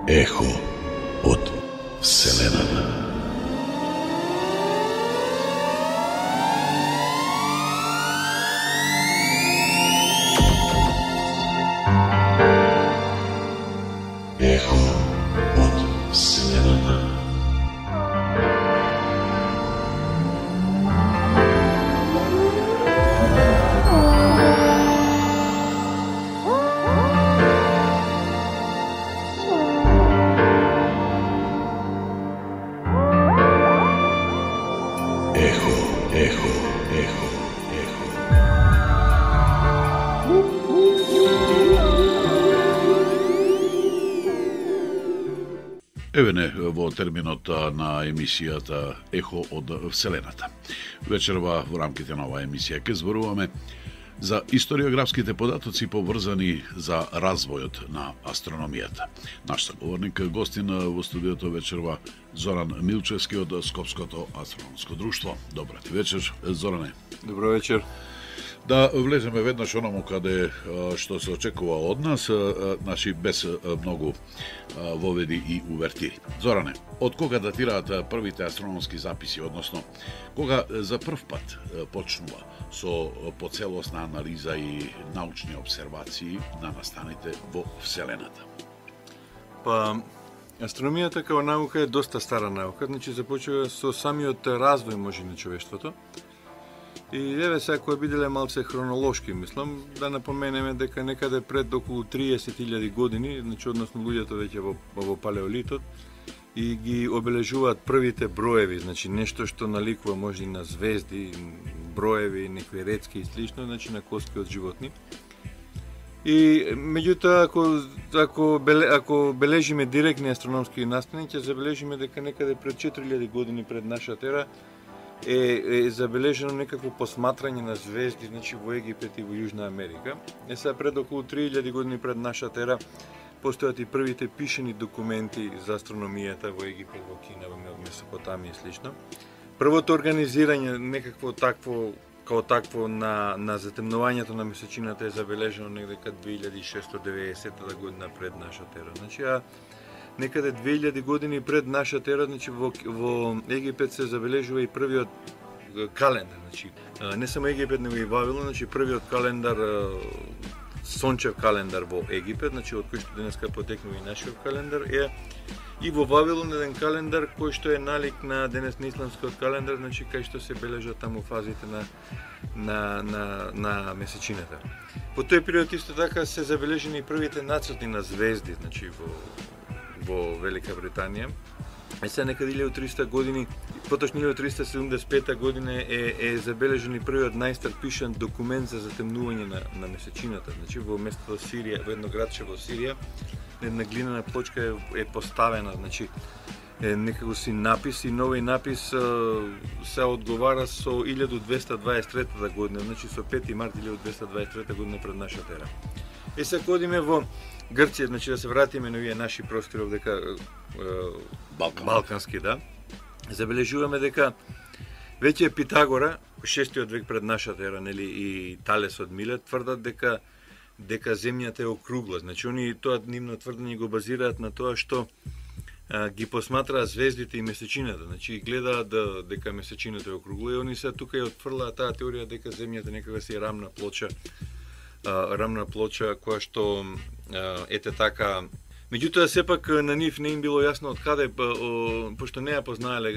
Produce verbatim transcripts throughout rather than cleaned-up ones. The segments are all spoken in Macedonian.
Ехо од Вселената. Ехо од Вселената. Ехо, ехо, ехо, ехо. Еве не во терминот на емисијата Ехо од Вселената. Вечерва во рамките на оваа емисија ќе зборуваме за историографските податоци поврзани за развојот на астрономијата. Наш соговорник, гостин во студиото вечерва Зоран Милчевски од Скопското астрономско друштво. Добра ти вечер, Зоране. Добро вечер. Да влеземе веднаш онаму каде што се очекува од нас, значи без многу воведи и увертири. Зоране, од кога датираат првите астрономски записи, односно кога за прв пат почнува со поцелосна анализа и научни обсервации на настаните во Вселената? Па, астрономијата како наука е доста стара наука, значи започува со самиот развој може на човештвото. И еве сега кој биделе малце хронолошки, мислам, да напоменеме дека некаде пред околу триесет илјади години, значи односно луѓето веќе во, во палеолитот, и ги обележуваат првите броеви, значи нешто што наликува може и на звезди, броеви, некои рецки и слично, значи на коски од животни. И меѓутоа ако ако беле, ако бележиме директни астрономски настани, ќе забележиме дека некаде пред четири илјади години пред нашата ера е, е забележено некакво посматрање на звезди, значи во Египет и во Јужна Америка. Е сега пред околу три илјади години пред нашата ера постојат и првите пишени документи за астрономијата во Египет, во Кина, во Месопотамија и слично. Првото организирање некакво такво као такво на на затемнувањето на месечината е забележено некаде две илјади и шесто деветдесета година пред нашата ера. Значи а некаде две илјади години пред нашата ера, значи во во Египет се забележува и првиот календар, значи не само Египет, него и Вавилон, значи првиот календар, сончев календар во Египет, значи од кој што денеска потекнува и нашиот календар, е и во Вавилон еден календар кој што е налик на денес на исламскиот календар, значи кај што се бележат таму фазите на на на на месечината. Во тој период исто така се забележени и првите нацрти на звезди, значи во во Велика Британија. Е сега некаде илјаду и триста години, поточно илјаду триста седумдесет и пета година е, е забележен и првиот најстар пишан документ за затемнување на, на месечината. Значи во местото Сирија, во едно градче во Сирија, една глинена плочка е, е поставена, значи е некако си напис и нови напис се одговара со илјаду двеста дваесет и трета година, значи со пети март илјаду двеста дваесет и трета година пред нашата ера. Е сега одиме во Грција, значи да се вратиме на овие наши простори овдека Балкан. балкански, да. Забележуваме дека веќе Питагора, шестиот век пред нашата ера, нели, и Талес од Милет тврдат дека дека земјата е округла. Значи они тоа нивно тврдење го базираат на тоа што а, ги посматраат звездите и месечината, значи гледаат да, дека месечината е округла и они се тука ја отфрлаат таа теорија дека земјата некога си е рамна плоча, а, рамна плоча која што а, ете така. Меѓутоа сепак на нив не им било јасно од каде, пошто не ја познаеле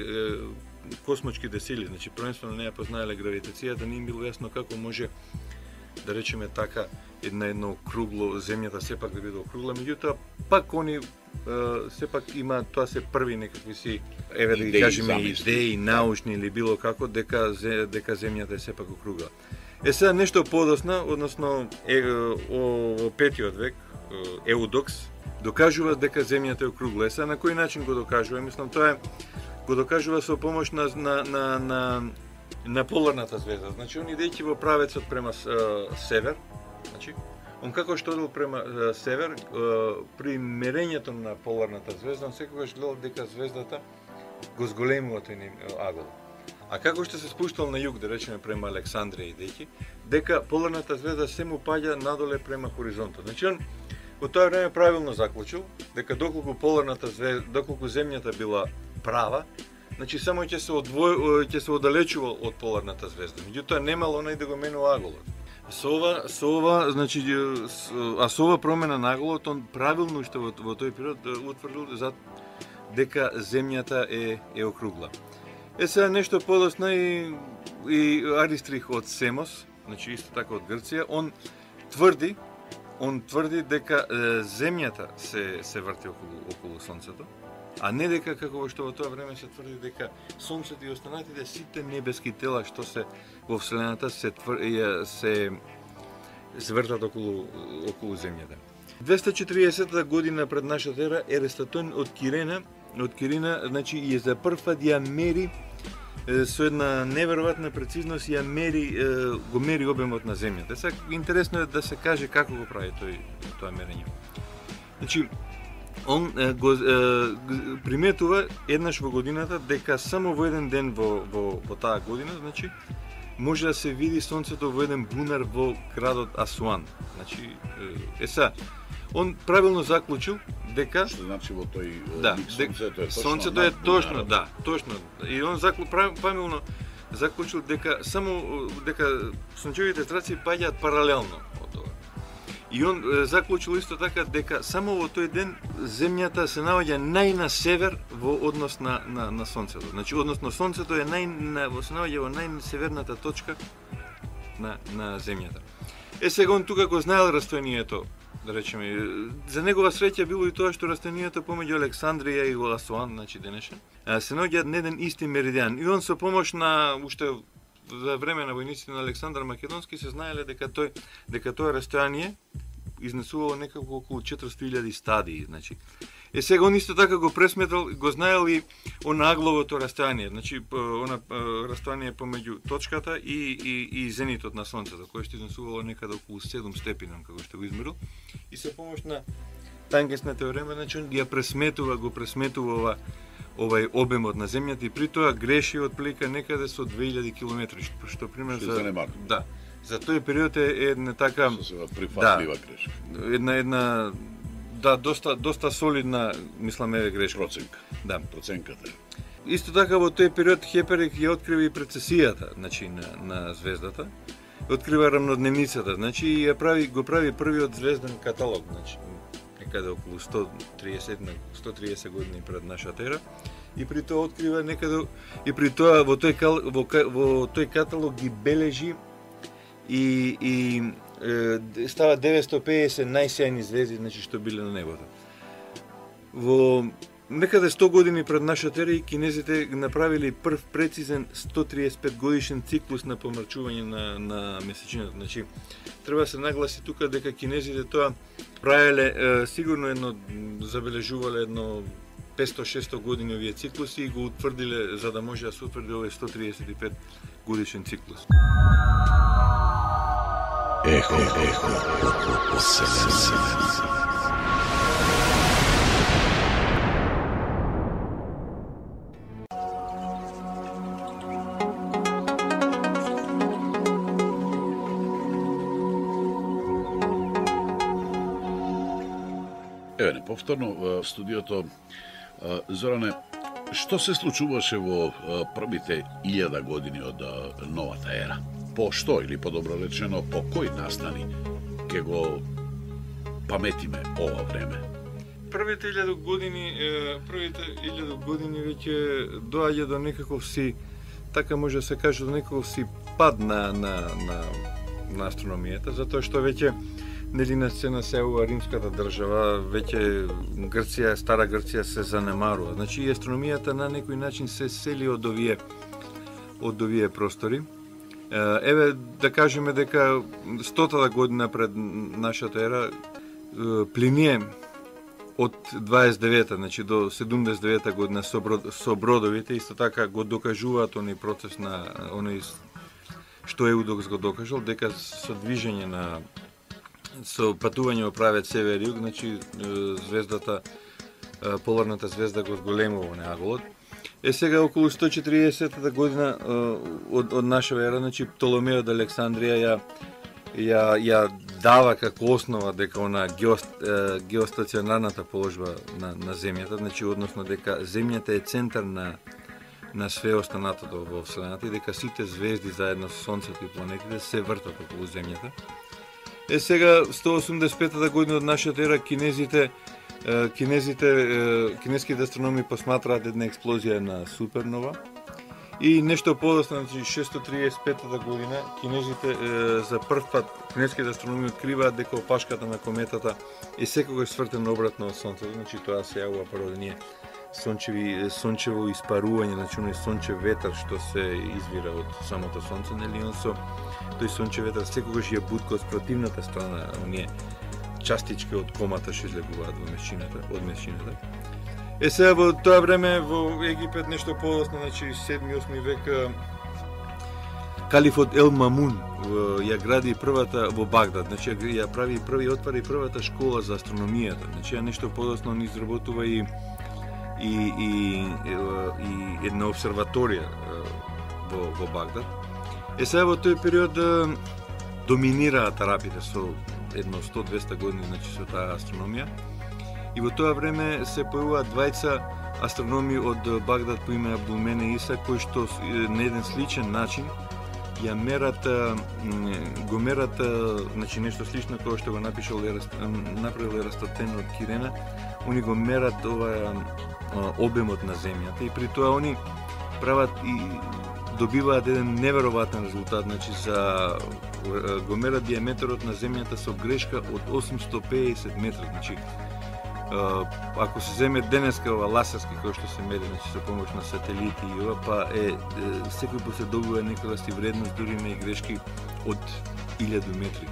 космочките сили, значи првенствено не ја познаеле гравитацијата, не им било јасно како може да речеме така една едно округло земјата сепак да биде округла. Меѓутоа пак они сепак има тоа се први некакви си еве да ги кажеме идеи научни или било како дека дека земјата е сепак округла. Е сега нешто подоцна, односно е, о, о петиот век Еудокс докажува дека земјата е округла. Е сега на кој начин го докажува? Мислам тоа е го докажува со помош на на на, на на поларната звезда. Значи, он идејќи во правецот према е, север, значи, он како што одел према е, север, е, при мерењето на поларната звезда, он секогаш гледал дека звездата го зголемува тој агол. А како што се спуштал на југ, да речеме према Александрија идејќи, дека поларната звезда се му паѓа надоле према хоризонтот. Значи, он во тоа време правилно заклучил дека доколку поларната звезда, доколку земјата била права, значи само ќе се одвој, ќе се оддалечува од поларната звезда. Меѓутоа немало онај да го менува аголот. Со ова, со ова, значи, а со ова промена на аголот, он правилно уште во, во тој период утврдил за дека земјата е е округла. Е сега нешто подоцна и, и Аристрих од Семос, значи исто така од Грција, он тврди, он тврди дека е, земјата се се врти околу околу сонцето, а не дека како што во тоа време се тврди дека сонцето и останатите сите небески тела што се во вселената се твр... се се вртат околу околу земјата. двеста и четириесетта година пред нашата ера Еристотел од Кирена, од Кирина, значи е за прв пат ја мери е, со една неверојатна прецизност ја мери е, го мери обемот на земјата. Сега интересно е да се каже како го прави тој тоа мерење. Значи он е, го е, приметува еднаш во годината дека само во еден ден во во во таа година, значи може да се види сонцето во еден бунар во градот Асуан. Значи е са он правилно заклучил дека што значи во тој да, миг сонцето е точно сонцето е точно, да, точно. И он заклу правилно заклучил дека само дека сончевите траци паѓаат паралелно од тоа. И он е, заклучил исто така дека само во тој ден земјата се наоѓа нај на север во однос на на на сонцето. Значи односно сонцето е нај на, се наоѓа во најсеверната точка на на земјата. Е сега он тука го знаел растојанието, да речеме, за негова среќа било и тоа што растојанието помеѓу Александрија и Асуан, значи денешен, се наоѓаат на еден исти меридијан. И он со помош на уште за време на војниците на Александар Македонски се знаеле дека тој дека тоа растојание изнесувало некако околу четиристотини илјади стадии, значи. Е сега он исто така го пресметал, го знаел и она агловото растојание, значи она растојание помеѓу точката и и и зенитот на сонцето, кое што изнесувало некаде околу седум степени, како што го измерил. И со помош на тангенсна теорема, значи он ја пресметува, го пресметува ова овај обемот на земјата и при тоа греши отплика некаде со две илјади километри, што пример за да. За тој период е една така прифатлива да, грешка. Една една да доста доста солидна, мисламе, грешка. Проценка. Да, проценката. Исто така во тој период Хеперик ја открива и прецесијата, значи на на звездата. Открива рамнодневницата, значи ја прави го прави првиот звезден каталог, значи некаде околу сто триесет години пред нашата ера. И при тоа открива некаде и при тоа во тој во, во тој каталог ги бележи и и е, става деветстотини и педесет најсјајни звезди, значи што биле на небото. Во некаде сто години пред нашата ера кинезите направиле прв прецизен сто триесет и пет годишен циклус на помрачување на на месечината. Значи треба се нагласи тука дека кинезите тоа правеле е, сигурно едно забележувале едно петстотини-шестстотини години овие циклуси и го утврдиле за да може да се утврди овој сто триесет и пет годишен циклус. Ехо, ехо, Еве не повторно во студиото. Зоране, што се случуваше во првите илјада години од новата ера? По што, или подобро речено, по кој настани ќе го паметиме ова време? Првите илјада години, првите илјада години веќе доаѓа до некаков си, така може да се каже, до некаков си пад на на на, на астрономијата, затоа што веќе нели на сцена се ова римската држава, веќе Грција, стара Грција се занемарува. Значи и астрономијата на некој начин се сели од овие од овие простори. Еве да кажеме дека стотата година пред нашата ера Плиние од дваесет и девета, значи до седумдесет и девета година со, брод, со бродовите, исто така го докажуваат оној процес на оној што Еудокс го докажал, дека со движење на со патување во правец север-југ, значи звездата, поларната звезда го зголемува на аголот. Е сега околу сто и четиридесета година од, од нашава ера, значи Птоломеј од Александрија ја ја ја дава како основа дека она геост, геостационарната положба на на земјата, значи односно дека земјата е центар на на све останатото во вселената и дека сите звезди заедно со сонцето и планетите се вртат околу земјата. Е сега сто осумдесет и пета година од нашата ера кинезите кинезите кинеските астрономи посматраат една експлозија на супернова. И нешто подоцна, значи шестsto триесет и пета година, кинезите е, за прв пат кинеските астрономи откриваат дека опашката на кометата е секогаш свртена обратно од сонцето, значи тоа се јавува прво да ние сончеви сончево испарување, значи оној сончев ветар што се извира од самото сонце, нели он со тој сончев ветар секогаш ја бутка од противната страна, оние частички од комата што излегуваат во месчината, од месчината. Е сега во тоа време во Египет нешто подоцна, значи седми-осми век, калифот Ел Мамун ја гради првата во Багдад, значи ја прави први отвари првата школа за астрономијата. Значи ја нешто подоцна он изработува и и и и една обсерваторија во во Багдад. Е сега во тој период доминираат арапите со едно сто до двесте години, значи со таа астрономија. И во тоа време се појавуваат двајца астрономи од Багдад по име Абдулмене Иса, кои што на еден сличен начин ја мерат, го мерат, значи нешто слично кое што го напишал направил Ерастотен од Кирена, они го мерат ова обемот на земјата и при тоа они прават и добиваат еден неверојатен резултат, значи за го мерат диаметрот на земјата со грешка од осумсто педесет метри, значи ако се земе денеска ова ласерски кој што се мери, значи со помош на сателити и ова, па е, е секој пат се добива некоја си вредност, дури има и грешки од илјаду метри.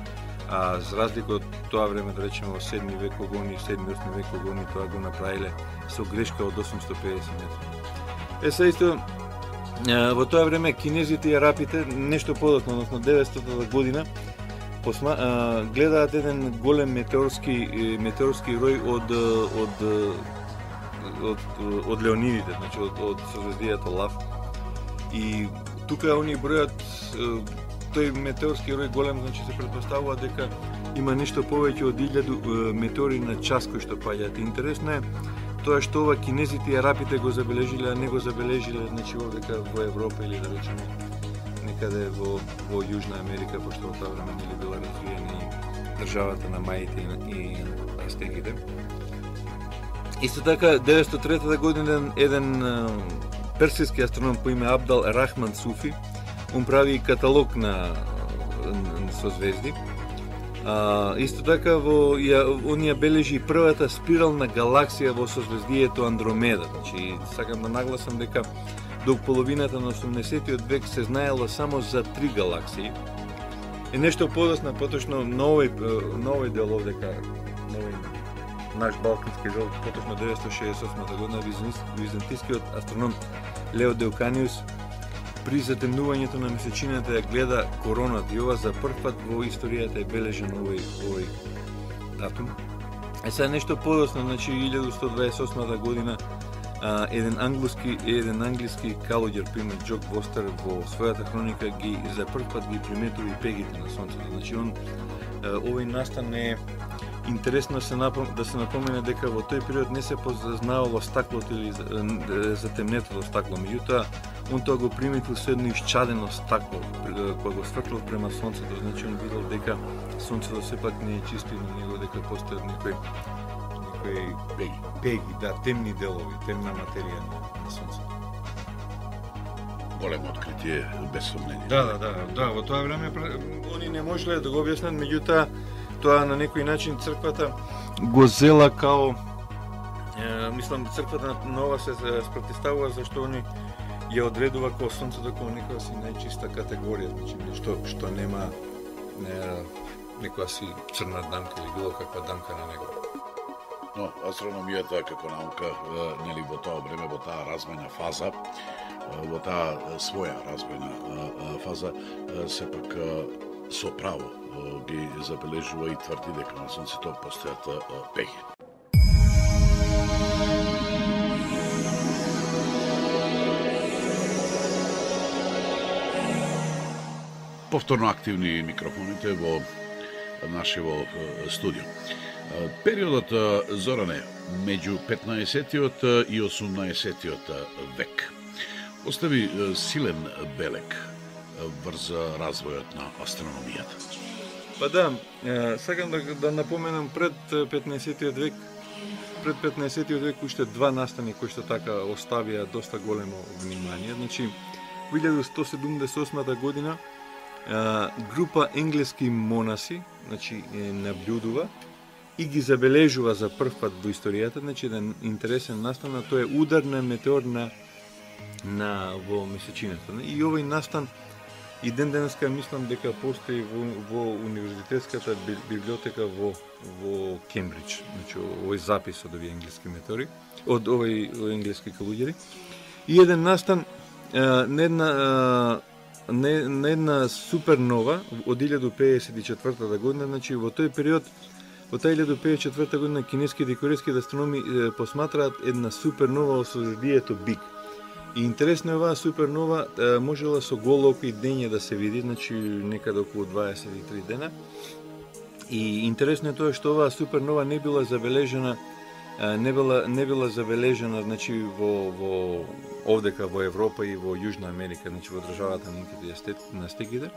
А за разлика од тоа време, да речеме во седми век, кога они седми-осми век, кога они тоа го направиле со грешка од осумсто педесет метри. Е се исто во тоа време кинезите и арапите нешто подоцна, односно деветстотата година, посма, а, гледаат еден голем метеорски метеорски рој од од од, од Леонидите, значи од, од созвездието Лав. И тука они бројат тој метеорски рој голем, значи се претпоставува дека има нешто повеќе од илјаду метеори на час кои што паѓаат. Интересно е тоа што ова кинезите и арапите го забележиле, а не го забележиле, значи овдека во Европа или да речеме некаде во, во Јужна Америка, пошто во тоа време нели била развиена и државата на маите и, и астеките. Исто така, деветстотини и трета година еден персиски астроном по име Абдал Рахман Суфи, он прави каталог на, на созвезди. А, исто така, во, ја, он ја бележи првата спирална галаксија во созвездието Андромеда. Значи, сакам да нагласам дека до половината на осумдесетиот век се знаело само за три галаксии. Е нешто подоцна, поточно на овој, на овој дел овдека, на овој наш балкански дел, поточно деветстотини шеесет и осма година, византискиот астроном Лео Деуканиус при затемнувањето на месечината ја гледа короната и ова за прв пат во историјата е бележен овој, овој датум. Е сега нешто подоцна, значи илјаду сто дваесет и осма година, Uh, еден англиски еден англиски калоѓер по име Джок Бостер во својата хроника ги за прв пат ги приметува и пегите на сонцето. Значи он uh, овој настан е интересно се напом... да се напомене дека во тој период не се познаело стаклото или затемнетото стакло. Меѓутоа он тоа го приметил со едно исчадено стакло кога го светлил према сонцето. Значи он видел дека сонцето сепак не е чисто и на него дека постојат некои пеги, пеги, да, темни делови, темна материја на, на сонцето. Големо откритие, без сомнение. Да, да, да, да, во тоа време они не можеле да го објаснат, меѓутоа тоа на некој начин црквата го зела као е, мислам црквата на ова се спротивставува зашто они ја одредува како сонцето како некоја си најчиста категорија, значи нешто што нема не, некоја си црна дамка или било каква дамка на него. Но астрономијата како наука, нели во тоа време, во таа развојна фаза, во таа своја развојна фаза, сепак со право ги забележува и тврди дека на Сонцето постојат пеги. Повторно активни микрофоните во нашево студио. Периодот, Зоране, меѓу петнаесеттиот и осумнаесеттиот век остави силен белег врз развојот на астрономијата. Па да, сакам да, да напоменам пред петнаесеттиот век, пред петнаесеттиот век уште два настани кои што така оставија доста големо внимание. Значи, во илјада сто седумдесет и осма година група енглески монаси, значи, наблюдува и ги забележува за прв пат во историјата, значи, еден интересен настан, а тоа е удар на метеор на, на во месечината. И овој настан и ден денеска мислам дека постои во, во универзитетската библиотека во во Кембридж, значи овој запис од овие енглески метеори, од овој енглески калуѓери. И еден настан на една не, на една супернова од илјада пеесет и четврта година, значи во тој период, во таа илјада пеесет и четврта година кинеските и корейските астрономи е, посматраат една супернова со звездието Биг. И интересно е оваа супернова е, можела со голо око и дење да се види, значи некаде околу дваесет и три дена. И интересно е тоа што оваа супернова не била забележана не била не била забележана, значи во во овдека во Европа и во Јужна Америка, значи во државата на Астеките.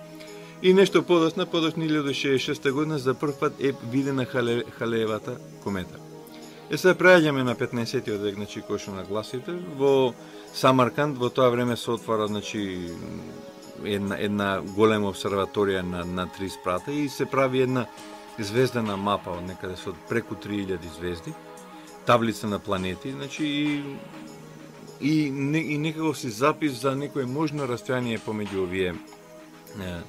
И нешто подоцна, подоцна илјада шеесет и шеста година за прв пат е видена Хале, Халеевата комета. Е сега преаѓаме на петнаесеттиот век, значи кој што нагласите, во Самарканд во тоа време се отвара, значи една една голема обсерваторија на на три спрата и се прави една звездана мапа од некаде со преку три илјади звезди, таблица на планети, значи и и, не, и некако си запис за некој можно растојание помеѓу овие е,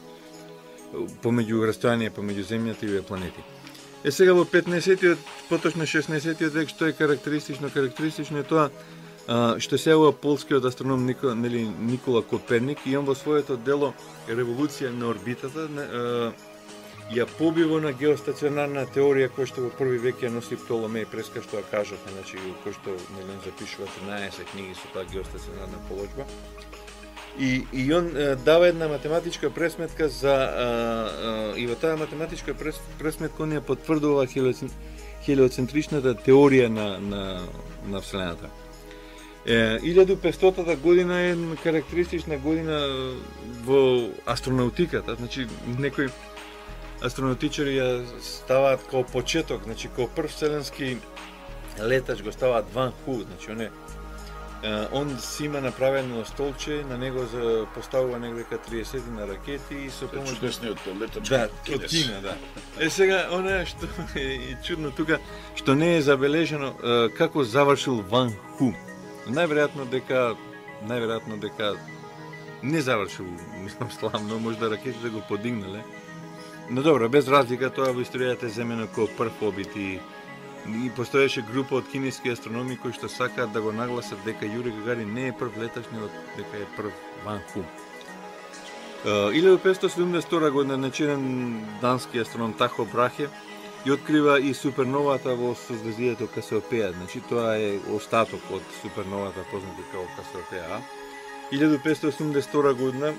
помеѓу растојание помеѓу земјата и овие планети. Е сега во петнаесеттиот, поточно шеснаесеттиот век, што е карактеристично, карактеристично е тоа а, што се ова полскиот астроном Никола, нели, Никола Коперник, и он во своето дело Револуција на орбитата а, ја побива на геостационарна теорија која што во први век ја носи Птоломеј Преска, што ја кажавме, значи кој што нели запишува тринаесет книги со таа геостационарна положба. И, и он е, дава една математичка пресметка за а, а, и во таа математичка прес, пресметка он ја потврдува хелиоцентричната теорија на на на Вселената. Е, илјада и петстотата година е карактеристична година во астронаутиката, значи некои астронавтичари ја ставаат како почеток, значи како прв вселенски летач го ставаат Ван Ху, значи он е он си има направено столче, на него за поставува негде триесет на ракети и со помош чудесниот летач. Да, тротина, да. Е сега она што е чудно тука, што не е забележано како завршил Ван Ху. Најверојатно дека најверојатно дека не завршил, мислам славно, можда ракетите го подигнале. Но добро, без разлика, тоа во историјата е земено како прв обид и, и постоеше група од кинески астрономи кои што сакаат да го нагласат дека Јури Гагарин не е прв летач, него дека е прв Ван Ху. илјада петстотини седумдесет и втора година начинен дански астроном Тахо Брахе и открива и суперновата во созвездието Касиопеја, значи тоа е остаток од суперновата познати како Касиопеја. илјада петстотини осумдесет и втора година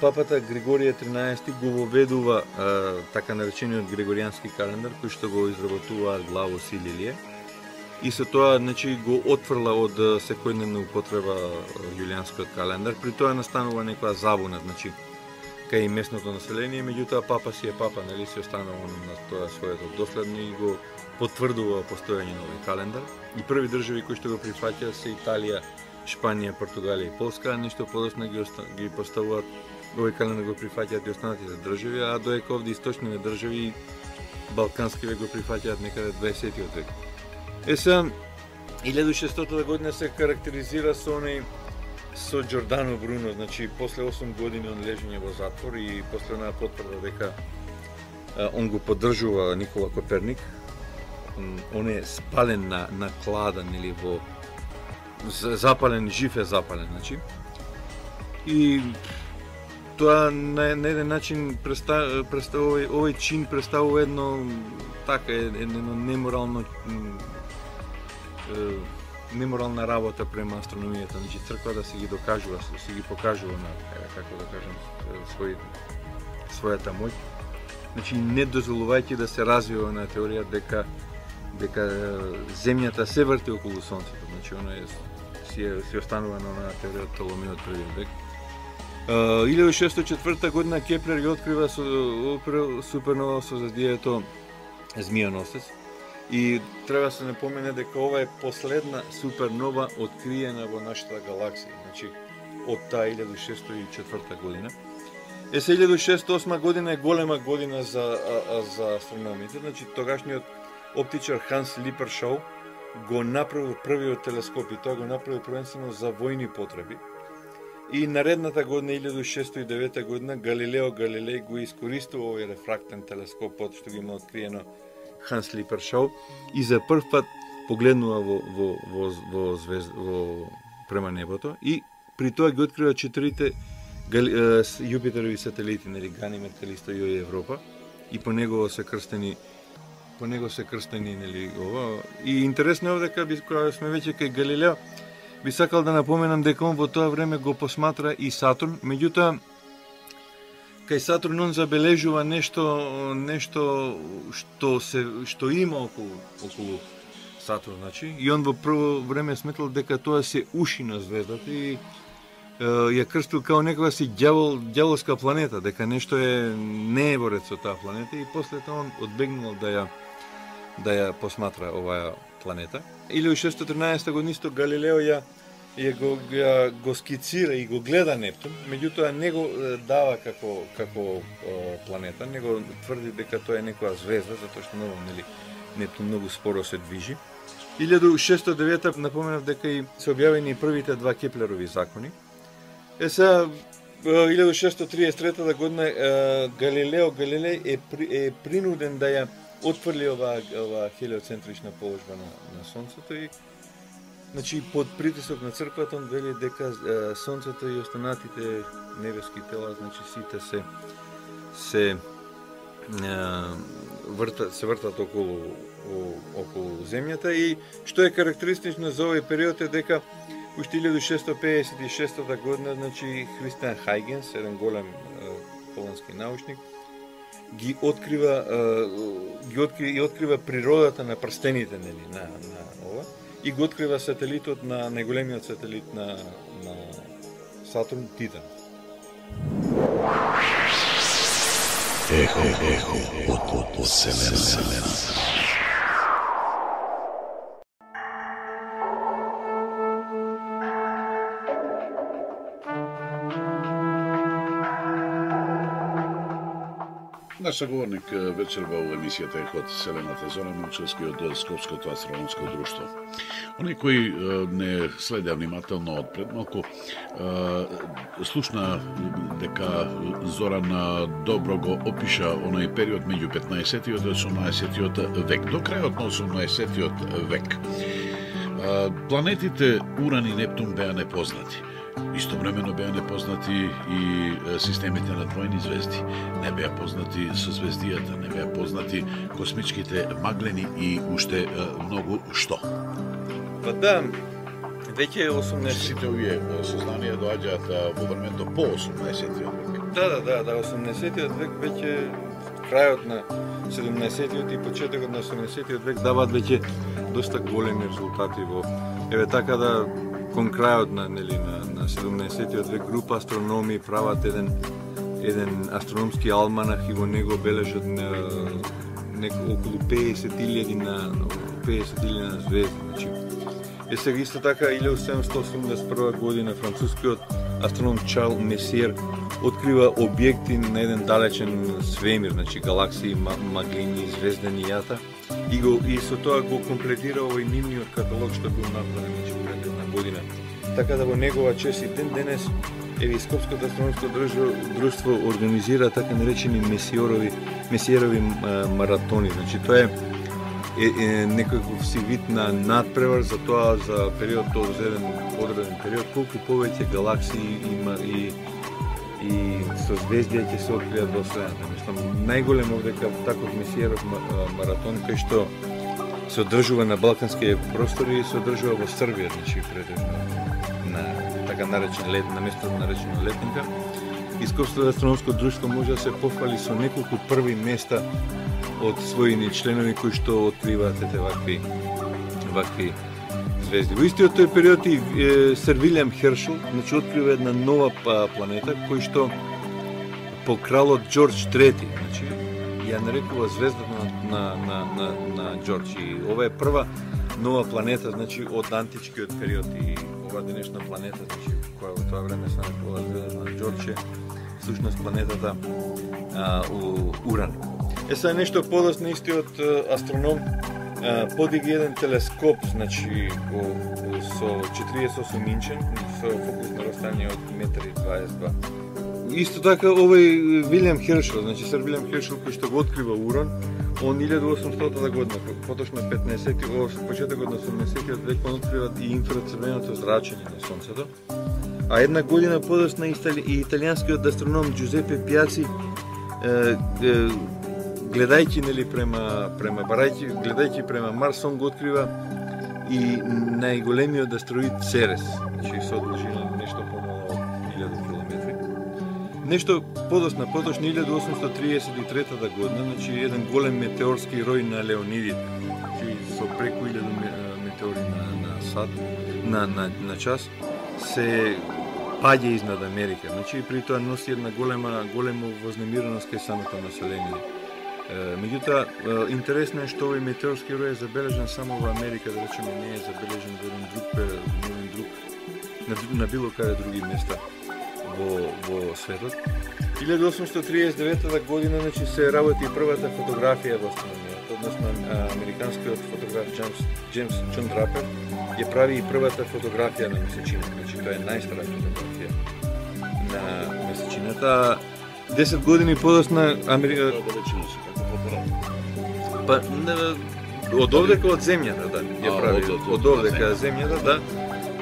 папата Григорije тринаесети го воведува а, така наречениот Григоријански календар, кој што го изработуваат Главос и Лилие. И со тоа, значи, го отфрла од секојдневна употреба јулијанскиот календар. При тоа настанува некоја забуна, значи, кај местното население, меѓутоа папа си е папа, нели, си останува на тоа своето доследно и го потврдува постојање на овој календар. И први држави кои што го прифаќаат се Италија, Шпанија, Португалија и Полска, нешто подоцна ги, оста... ги поставуваат овој календар го прифаќаат и останатите држави, а доека овде источните држави балкански век го прифаќаат некаде дваесеттиот век. Е сега, илјада и шестстотата година се карактеризира со оној со Џордано Бруно, значи после осум години он лежење во затвор и после онаа потврда дека а, он го поддржува Никола Коперник. он е спален на, на клада, нели, во запален, жив е запален, значи. И тоа на, на еден начин представ, представ, овој, овој чин представува едно така едно неморално неморална работа према астрономијата, значи црква да се ги докажува, се ги покажува на како да кажам свој својата моќ. Значи не дозволувајќи да се развива на теорија дека дека земјата се врти околу сонцето, значи она е си си останува на онаа теорија од Толомеј од првиот век. илјада и шестоста и четврта година Кеплер ги открива со супернова созвездието Змијоносец и треба да се напомене дека ова е последна супернова откриена во нашата галаксија, значи од таа илјада и шестоста и четврта година. Е, се илјада и шестоста и осма година е голема година за, а, а, за астрономите, значи тогашниот оптичар Ханс Липершоу го направил првиот телескоп и тоа го направил првенствено за војни потреби. И наредната година, илјада и шестоста и девета година, Галилео Галилеј го искористува овој рефрактен телескоп, што ги има откриено Ханс Липершоу, и за прв пат погледнува во, во, во, во, звезд, во према небото и при тоа ги открива четирите Јупитерови сателити, нели, Ганимед, Калисто, Ио и Европа, и по него се крстени по него се крстени, нели, ова. И интересно е дека кога сме веќе кај Галилео, би сакал да напоменам дека он во тоа време го посматра и Сатурн, меѓутоа кај Сатурн он забележува нешто нешто што се што има околу околу Сатурн, значи, и он во прво време сметал дека тоа се уши на звездата и ја крстил као некоја си ѓавол, ѓаволска планета, дека нешто е не е во ред со таа планета, и после тоа он одбегнал да ја да ја посматра оваа планета. илјада и шестоста и тринаесета година исто Галилео ја ја го ја го скицира и го гледа Нептун, меѓутоа не го дава како како планета, него тврди дека тоа е некоја звезда, затоа што многу, нели, Нептун многу споро се движи. илјада и шестоста и девета напоменав дека и се објавени првите два Кеплерови закони. Е сега, илјада и шестоста и триесет и трета година Галилео Галилеј е, при, е принуден да ја отфрли оваа ова хелиоцентрична положба на, на Сонцето и, значи, под притисок на црквата он вели дека е, Сонцето и останатите небески тела, значи сите се се е, вртат се вртат околу о, околу земјата, и што е карактеристично за овој период е дека уште илјада шестоста пеесет и шеста година, значи, Христијан Хајгенс, еден голем е, полонски научник, ги открива е, ги открива, и открива природата на прстените, нели, на на ова, и го открива сателитот на најголемиот сателит на на Сатурн, Титан. Ехо, ехо, од од Вселената. Наш саговорник вечерва во емисијата Ехо од Вселената, Зоран Момчевски од Скопското астрономско друштво. Они кои не следеа внимателно од предмалку, слушна дека Зоран добро го опиша оној период меѓу петнаесеттиот и осумнаесеттиот век. До крајот на осумнаесеттиот век планетите Уран и Нептун беа непознати. Истовремено беа непознати и системите на двојни звезди. Не беа познати созвездијата, не беа познати космичките маглени и уште многу што. Па да, веќе осумнаесет... Сите овие сознанија доаѓаат во времето по осумнаесеттиот век. Да, да, да, да, осумнаесеттиот век веќе крајот на седумнаесеттиот и почетокот на осумнаесеттиот век даваат веќе доста големи резултати во... Еве така да кон крајот на, нели, на, на седумнаесеттиот век група астрономи прават еден еден астрономски алманах и во него бележат на, неко, околу пеесет илјади на пеесет илјади на звезди, значи. Е сега исто така илјада седумстотини осумдесет и прва година францускиот астроном Чарл Месиер открива објекти на еден далечен свемир, значи галаксии, маглини, звездени јата, и го и со тоа го комплетира овој нивниот каталог што бил направен, значи, пред една година. Така да во негова чест и ден денес еве Скопското астрономско друштво организира така наречени месиерови месиерови маратони. Значи тоа е е, е некој си вид на надпревар за тоа, за периодот, за еден одреден период, колку повеќе галаксии има и и созвездија ќе се откријат во Вселената. Мислам, најголем овдека таков месиеров маратон кај што се одржува на балканските простори и се одржува во Србија, значи предежно на така наречен лет, на место наречено Летника. Ископското астрономско друштво може да се пофали со неколку први места од своји членови кои што откриваат ете вакви вакви звезди. Во истиот тој период и Сер Вилијам Хершел, значи открива една нова планета кој што по кралот Џорџ трети, значи ја нарекува звездата на на на на, на Џорџ. И ова е прва нова планета, значи од античкиот период и ова денешна планета, значи која во тоа време се нарекува звездата на Џорџ е всушност планетата а, у Уран. Е сега нешто подоцна истиот астроном а, подиги еден телескоп, значи о, о, со четириесет и осум инчен, со фокусно растање од метар и дваесет и два. Исто така овој Вилијам Хершел, значи Сер Вилијам Хершел кој што го открива Уран, он илјада и осумстотата година, поточно петнаесети, почетокот на осумдесетиот век, он открива и инфрацрвеното зрачење на сонцето. А една година подоцна и италијанскиот астроном Џузепе Пиаци, гледајќи нели према према барајќи, гледајќи према Марс, он го открива и најголемиот астероид Церес, значи со должина нешто помало од илјада километри. Нешто подоцна, поточно илјада осумстотини триесет и трета година, значи еден голем метеорски рој на Леонидите, значи со преку илјада метеори на на сат, на на на час, се паѓа изнад Америка. Значи при тоа носи една голема голема вознемиреност кај самото население. Меѓутоа, интересно е што овој метеорски рој е забележан само во Америка, да речеме, не е забележан во еден друг период, еден друг на, на било каде други места во во светот. илјада осумстотини триесет и девета година, значи се работи првата фотографија во астрономијата, односно американскиот фотограф Джеймс Джеймс Џон Драпер ја прави и првата фотографија на месечината, значи тоа е најстара фотографија на месечината. десет години подоцна Америка Па од овдека од земјата, да, ја прави од овдека од земјата, да,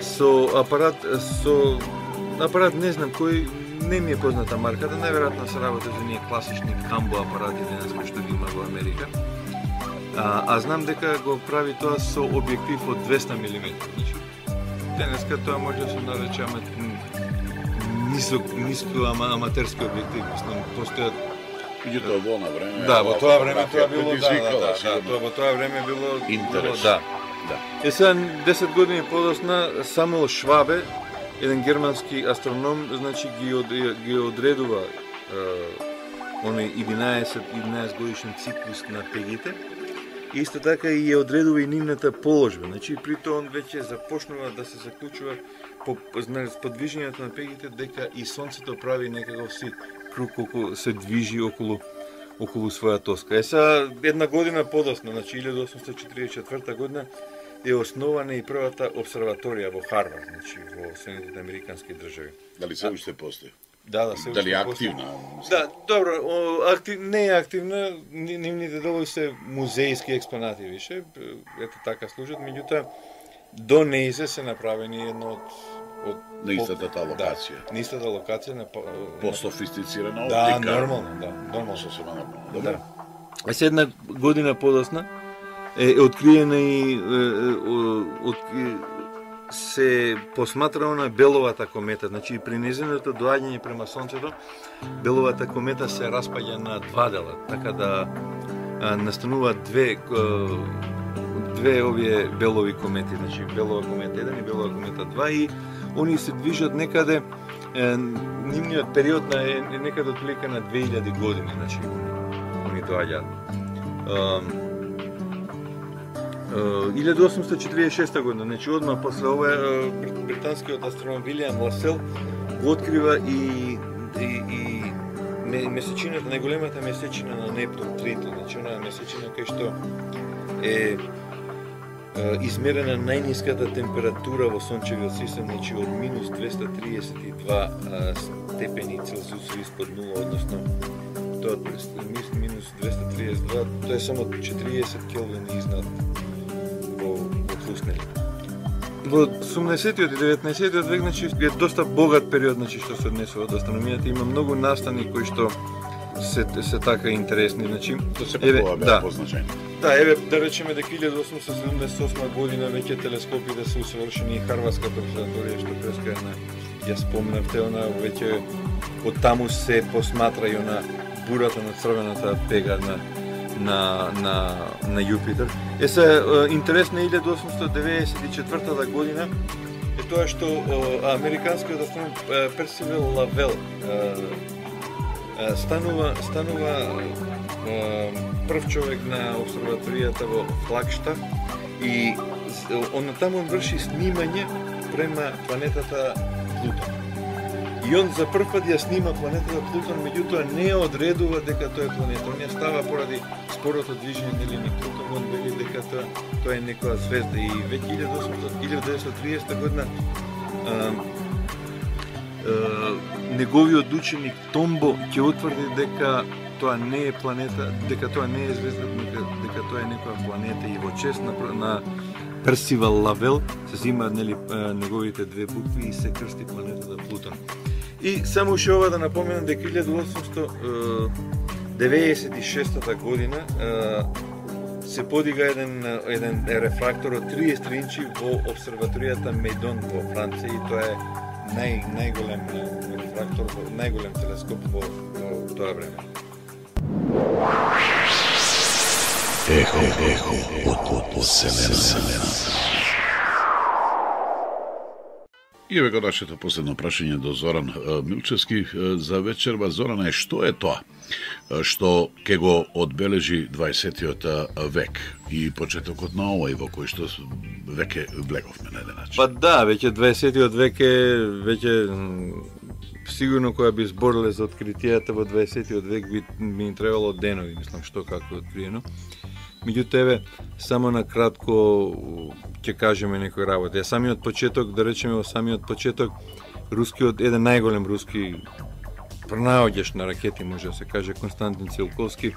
со апарат со апарат не знам кој, не ми е позната марката, најверојатно се работи за ние класични камбо апарати денес кои што ги има во Америка. А, а знам дека го прави тоа со објектив од двеста милиметри. Значи, денеска тоа може да се нарече ама нисок, ниско ама аматерски објектив. Мислам, постојат Меѓутоа во на време. Да, во тоа време тоа било, да, да, да, тоа во тоа време било интерес. Да. Да. Е сега десет години подоцна Самуел Швабе, еден германски астроном, значи ги од, ги одредува е, оној единаесет годишен циклус на пегите. Исто така и ја одредува и нивната положба. Значи при тоа он веќе започнува да се заклучува по подвижењето на пегите дека и сонцето прави некаков си круг околу, се движи околу околу своја тоска. Е сега една година подоцна, значи илјада осумстотини четиридесет и четврта година е основана и првата обсерваторија во Харвард, значи во Соединетите американски држави. Дали се уште постои? Да, да, се уште Дали е активна? Да, добро, актив, не е активна, нивните делови се музејски експонати више, ето така служат, меѓутоа до неизе се направени едно од од на истата таа локација. Да, на истата локација на по-софистицирана оптика. оптика. Да, нормално, да, нормално Сосема нормално. Да. А се една година подоцна е, е откриена и од се посматрано на Беловата комета, значи при незиното доаѓање према сонцето, Беловата комета се распаѓа на два дела, така да а, настануваат две а, две овие белови комети, значи Белова комета еден и Белова комета два, и они се движат некаде, е, нивниот период на е, е некаде отприлика на две илјади години, значи они доаѓаат. илјада осумстотини четиридесет и шеста година, значи одма после ова британскиот астроном Вилијам Ласел го открива и и, и месечината, најголемата месечина на Нептун, Тритон, значи онаа месечина кај што е измерена најниската температура во сончевиот систем, значи од минус двеста триесет и два степени Целзиус испод нула, односно тоа минус двеста триесет и два, тоа е само четириесет келвин изнад во, во плюс, нели. Во осумнаесеттиот и деветнаесеттиот век, значи, е доста богат период, значи, што се однесува до астрономијата. Има многу настани кои што се, се така интересни, значи. Тоа се пакува беа позначајни. Да, еве, да речеме дека илјада осумстотини седумдесет и осма година веќе телескопите се усовршени и Харвардската обсерваторија, што преска една, ја спомнавте, она веќе од таму се посматра и она бурата на црвената пега на на на на Јупитер. Е се интересно е илјада осумстотини деветдесет и четвртата година е тоа што американскиот астроном Персивал Лавел станува станува прв човек на обсерваторијата во Флагштаф и он таму врши снимање према планетата Плутон. И он за прв пат ја снима планетата Плутон, меѓутоа не одредува дека тоа е планета. Он ја става поради спорото движење нели низ Плутон, он вели дека тоа, тоа е некоја звезда и веќе илјада деветстотини и триесета година а, а, неговиот ученик Томбо ќе утврди дека тоа не е планета, дека тоа не е звезда, дека, дека тоа е некоја планета и во чест на, на Персивал Лавел се земаат нели неговите две букви и се крсти планетата Плутон. И само уште ова да напоменам дека илјада осумстотини деветдесет и шестата година се подига еден еден рефрактор од триесет инчи во обсерваторијата Мейдон во Франција и тоа е нај најголем рефрактор, најголем телескоп во, во тоа време. Ехо, ехо, од Вселената. И еве го нашето последно прашање до Зоран Милчевски за вечерва. Зоране, што е тоа што ќе го одбележи дваесеттиот век и почетокот на овој во кој што веќе влеговме на еден начин? Па да, веќе дваесеттиот век е веќе сигурно која би збориле за откритијата во дваесеттиот век би ми требало денови, мислам што како е откриено. Меѓутоа, еве, само на кратко ќе кажеме некои работи. Ја самиот почеток, да речеме во самиот почеток, рускиот, еден најголем руски пронаоѓач на ракети, може да се каже, Константин Циолковски,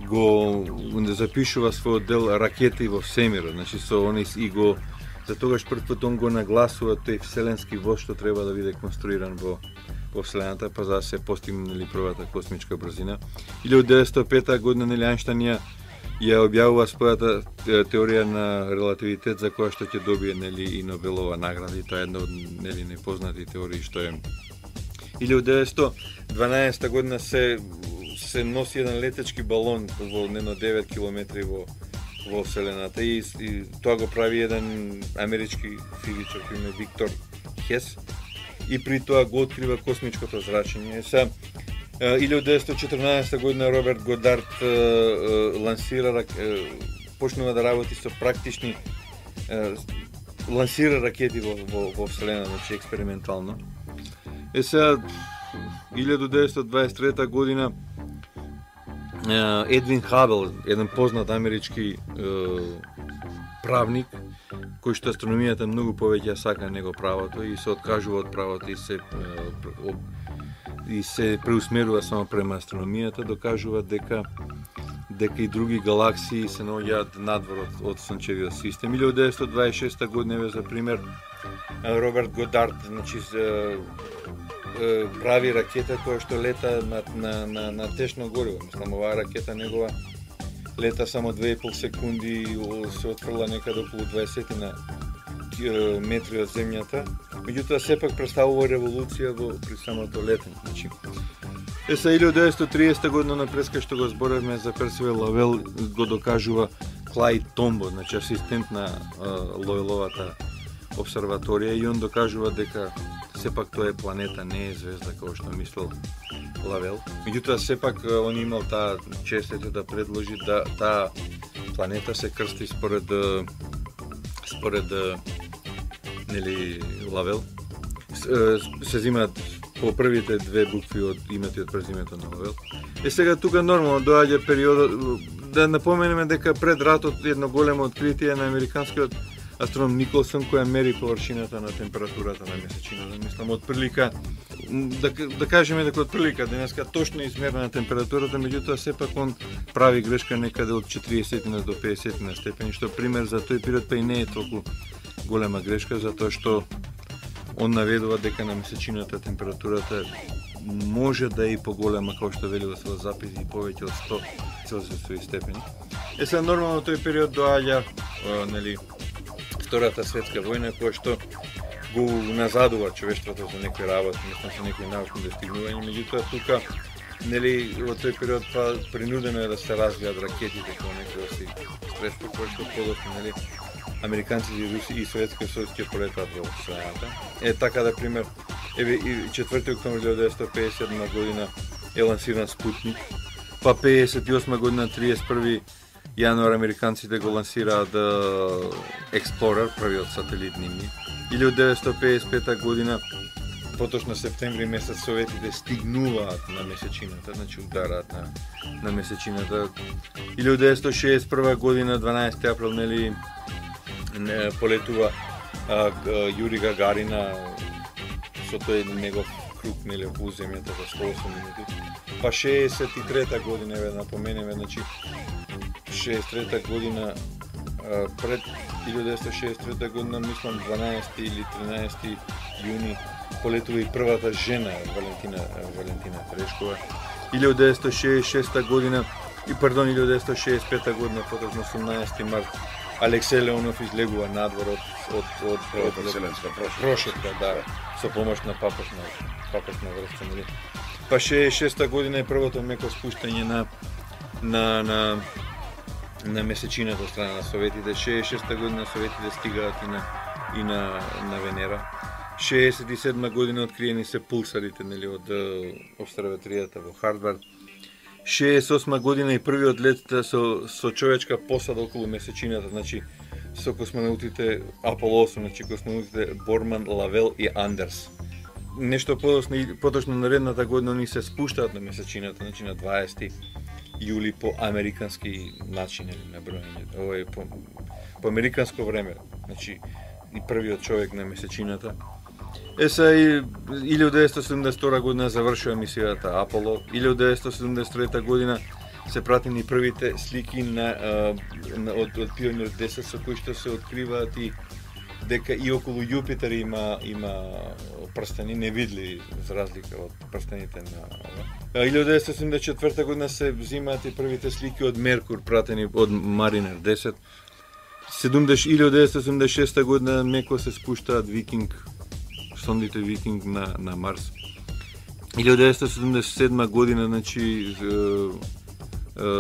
го запишува својот дел Ракети во всемирот. Значи, со они и го, за тогаш прв пат он го нагласува тој вселенски воз што треба да биде конструиран во во Вселената, па за да се постигне нели првата космичка брзина. илјада деветстотини и пета година нели Ајнштајн ја ја објавува својата теорија на релативитет за која што ќе добие нели и Нобелова награда и тоа е една од нели непознати теории што е. илјада деветстотини и дванаесета година се се носи еден летечки балон во нено девет километри во во Вселената и, и тоа го прави еден амерички физичар кој име Виктор Хес и при тоа го открива космичкото зрачење. Се илјада деветстотини и четрнаесета година Роберт Годард е, е, лансира, е, почнува да работи со практични, е, лансира ракети во, во, во Вселена, значи експериментално. Е сега, илјада деветстотини и дваесет и трета година е, Едвин Хабел, еден познат амерички е, правник, кој што астрономијата многу повеќе ја сака него правото и се откажува од правото и се е, и се преусмерува само према астрономијата, докажува дека дека и други галаксии се наоѓаат надвор од, од сончевиот систем. илјада деветстотини и дваесет и шеста година, за пример, Роберт Годард, значи, прави ракета која што лета на, на, на, на течно гориво. Мислам, оваа ракета негова лета само две и пол секунди и се отфрла некаде околу дваесет на метри од земјата. Меѓутоа сепак представува револуција во при самото летење. Значи, е са илјада деветстотини и тридесета година на преска што го зборевме за Персивал Лавел го докажува Клајд Томбо, значи асистент на Лоеловата обсерваторија и он докажува дека сепак тоа е планета, не е звезда како што мислел Лавел. Меѓутоа сепак он имал таа честите да предложи да таа планета се крсти според според нели Лавел. Се земаат по првите две букви од името и од презимето на Лавел. Е сега тука нормално доаѓа периодот да напоменеме дека пред ратот едно големо откритие на американскиот астроном Николсон, која мери површината на температурата на месечината. Мислам, од прилика, да, да кажеме дека од прилика денеска точно измерена температурата, меѓутоа сепак он прави грешка некаде од четириесет до педесет степени, што пример за тој период па и не е толку голема грешка, затоа што он наведува дека на месечината температурата може да е и поголема, како што вели во својот запис, и повеќе од сто целзиусови степени. Е, сега нормално тој период доаѓа, нели, Втората светска војна, која што го назадува човештвото за некои работи, мислам за некои научни достигнувања, меѓутоа тука, нели, во тој период па принудено е да се развијат ракетите како некои си средства, кои што подоцна, нели, американците и руси и Советскиот сојуз ќе полетат во Вселената. Е, така да пример, еве четврти октомври илјада деветстотини пеесет и седма година е лансиран Спутник, па пеесет и осма година триесет и први јануар американците го лансираат Explorer, првиот сателит нивни. илјада деветстотини пеесет и пета година, поточно септември месец, советите стигнуваат на месечината, значи удараат на, на месечината. илјада деветстотини шеесет и прва година, дванаесети април, нели, не, полетува а, а, Јури Гагарина со тој негов круг, нели, околу земјата за сто и осум минути. Па шеесет и трета година, еве напоменеме, значи шеесет и трета година, а, пред илјада деветстотини шеесет и трета година, мислам дванаесети или тринаесети јуни, полетува и првата жена, Валентина, Валентина Терешкова. илјада деветстотини шеесет и шеста година, и пардон, илјада деветстотини шеесет и пета година, поточно осумнаесети март, Алексеј Леонов излегува надвор од од од од вселенска прошетка, да, со помош на папашна папашна врска, нели. Па шеесет и шеста година е првото меко спуштање на на на на месечината од страна на советите. шеесет и шеста година советите стигаат и на и на на Венера. шеесет и седма година откриени се пулсарите, нели, од обсерваторијата во Хардвард. шеесет и осма година и првиот лет со со човечка посада околу месечината, значи со космонаутите Аполо осум, значи космонаутите Борман, Лавел и Андерс. Нешто подоцна, поточно наредната година они се спуштаат на месечината, значи на дваесети јули по американски начин, на броење, овој по, по американско време, значи и првиот човек на месечината. Е, са и илјада деветстотини седумдесет и втора година завршува мисијата Аполо. илјада деветстотини седумдесет и трета година се пратени првите слики на, на од, од Пионер десет, со кои што се откриваат и дека и околу Јупитер има има прстени невидливи, за разлика од прстените на илјада деветстотини седумдесет и четврта година се взимаат и првите слики од Меркур, пратени од Маринер десет. илјада деветстотини седумдесет и шеста година меко се спуштаат Викинг, сондите Викинг на на Марс. илјада деветстотини седумдесет и седма година, значи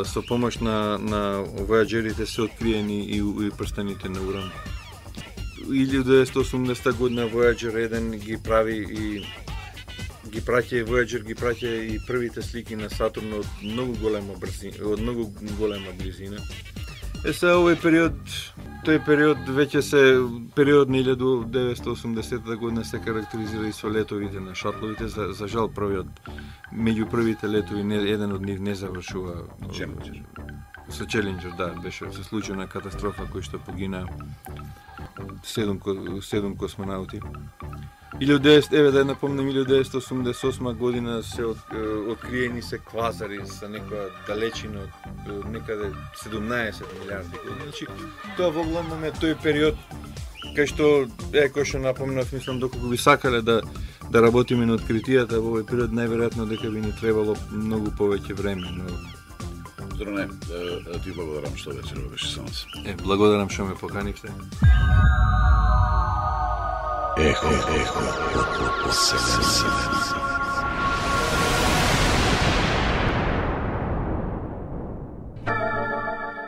со помош на на војаџерите се откриени и, и прстените на Уран. илјада деветстотини и осумдесета година Voyager еден ги прави и ги праќа Voyager ги праќа и првите слики на Сатурн од многу голема брзина, од многу голема близина. Е, сега овој период, тој период веќе се период на илјада деветстотини и осумдесета година се карактеризира и со летовите на шатловите. За, за жал првиот меѓу првите летови не, еден од нив не завршува. Челенџер. Со Челенџер, да, беше се случена катастрофа кој што погина седум седум космонаути. илјада деветстотини, еве да напомнам, илјада деветстотини и осумдесет и осма година се од, откриени се квазари со некоја далечина од некаде седумнаесет милиарди години. Значи, тоа во главном е тој период кај што, е, кој што напомнав, мислам, доколку би сакале да да работиме на откритијата во овој период, најверојатно дека би ни требало многу повеќе време, но Здраве, ти благодарам што вечерва беше со нас. Е, благодарам што ме поканивте. Ехо, ехо,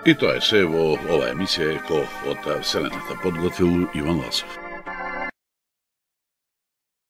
И тоа е се во оваа емисија Ехо од Вселената. Подготвил Иван Ласов.